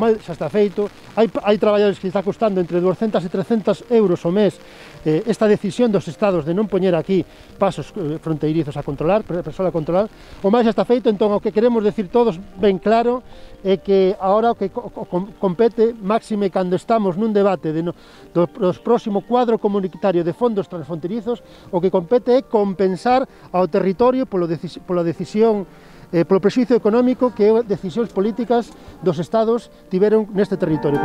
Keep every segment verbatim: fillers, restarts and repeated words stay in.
mal xa está feito, hai, hai traballadores que está costando entre duascentos e trescentos euros o mes eh, esta decisión dos estados de non poñer aquí pasos eh, fronteirizos a controlar, persoal a controlar, o máis xa está feito, entón o que queremos decir todos ben claro é que agora o que co co compete, máxime cando estamos nun debate de no, do, dos próximo cuadro comunitario de fondos transfronterizos, o que compete é compensar ao territorio polo decis pola decisión eh, polo prexuízo económico que decisións políticas dos estados tiveron neste territorio.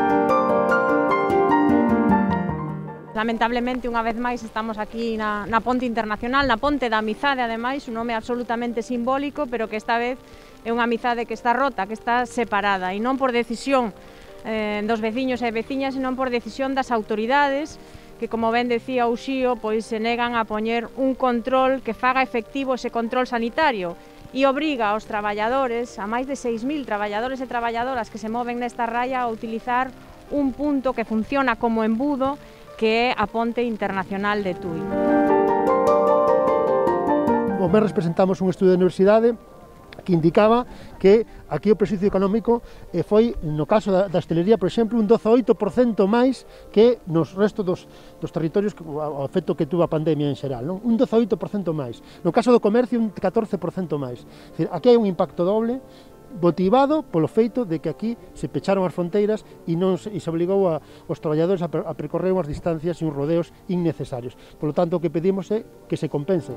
Lamentablemente, unha vez máis, estamos aquí na, na Ponte Internacional, na Ponte da Amizade, ademais, un nome absolutamente simbólico, pero que esta vez é unha amizade que está rota, que está separada, e non por decisión eh, dos veciños e veciñas, senón por decisión das autoridades, que, como ben decía Uxío, pois se negan a poñer un control que faga efectivo ese control sanitario e obriga aos traballadores, a máis de seis mil traballadores e traballadoras que se moven nesta raya, a utilizar un punto que funciona como embudo, que é a Ponte Internacional de Tui. O mes presentamos un estudo de universidade que indicaba que aquí o prexuízo económico eh, foi, no caso da, da hostelería, por exemplo, un doce vírgula oito por cento máis que nos restos dos, dos territorios ao efecto que tuvo a pandemia en xeral, non? Un doce vírgula oito por cento máis. No caso do comercio, un catorce por cento máis. É dicir, aquí hai un impacto doble motivado polo feito de que aquí se pecharon as fronteiras e non se, e se obligou a, os traballadores a, a percorrer unhas distancias e uns rodeos innecesarios. Por lo tanto, o que pedimos é que se compense.